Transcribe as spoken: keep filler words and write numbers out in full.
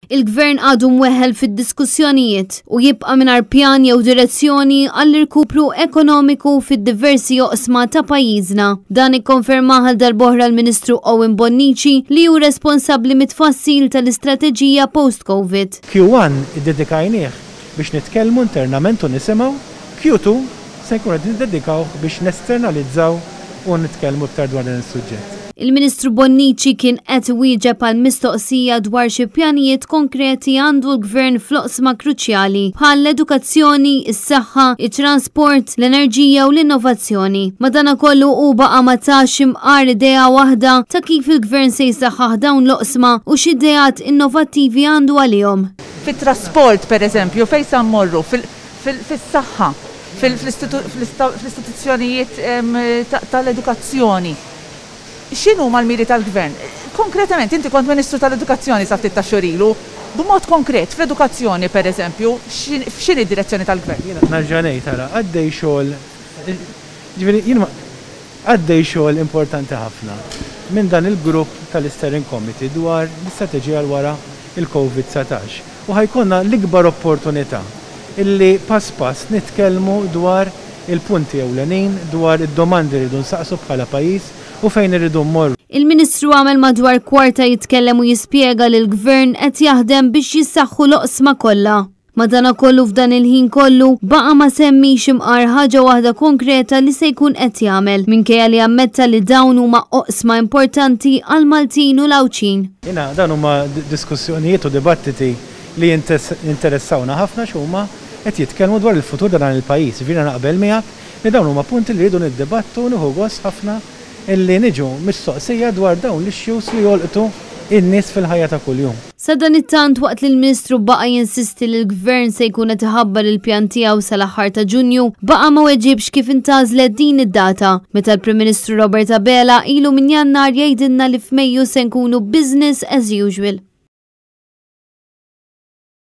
Il-gvern għadu mweħel fid-diskussjonijiet u jibqa' mingħajr pjan jew direzzjoni għall-irkupru ekonomiku fid-diversi oqsma ta' pajjiżna. Dan ikkonfermah għal darb'oħra l-Ministru Owen Bonnici, li hu responsabbli mit-tfassil tal-istrateġija post-Covid. Q one iddedikajnieh biex nitkellmu internament u nisimgħu, Q two se nkunu qed niddedikaw biex nesternalizzaw u nitkellmu iktar dwar dan is-suġġett. Il-Ministru Bonnici kien qed wieġeb għal mistoqsija dwar xi pjanijiet konkreti għandu l-gvern fl-oqsma kruċjali bħal l-edukazzjoni, is-saħħa, it-trasport, l-enerġija u l-innovazzjoni. Madanakollu u baqa' ma tax imqar idea waħda ta' kif il-gvern se jsaħħaħ dawn l-oqsma u x'ideat innovattivi għandu għalihom. Fit-trasport, per eżempju, fejn sa mmorru, fis-saħħa, fl-istituzzjonijiet tal-edukazzjoni. X'inhuma l-miri tal-gvern? Konkretament, inti kont Ministru tal-Edukazzjoni sa ftit ta' xhur ilu, b'mod konkret, fl-edukazzjoni, per eżempju, x'inhi d-direzzjoni tal-gvern? Jiena nerġa' ngħid, ara, għaddej xogħol, ġifieri jien għaddej xogħol importanti ħafna minn dan il-grupp tal-Steering Committee dwar l-istrateġija l wara il-Covid dsatax. U ħa jkollna l-ikbar opportunità illi pass pass nitkellmu dwar il-punti ewlenin, dwar id-domandi rridu nsaqsu bħala pajjiż u fejn irridu mmorru. Il-Ministru għamel madwar kwarta jitkellem u jispjega li l-gvern qed jaħdem biex jissaħħu l-oqsma kollha. Madanakollu, f'dan il-ħin kollu baqa' ma semmix imqar ħaġa waħda konkreta li se jkun qed jagħmel, minkejja li ammetta li dawn huma oqsma importanti għal Maltin u l-Għawdxin. Jiena dan huma diskussjonijiet u dibattiti li jinteressawna ħafna, x'huma qed jitkellmu dwar il-futur ta' dan il-pajjiż. Jiena naqbel miegħek li dawn huma punti li rridu niddibattu. Nieħu gost ħafna illi niġu mistoqsija dwar dawn l-issues li jolqtu in-nies fil-ħajja ta' kuljum. Sadanittant, waqt li l-Ministru baqa' jinsisti li l-Gvern se jkun qed iħabbar il-pjan tiegħu sal-aħħar ta' Ġunju, baqa' ma weġibx kif intgħażlet din id-data, meta l-Prim Ministru Robert Abela ilu minn Jannar jgħidilna li f'Mejju se nkunu business as usual.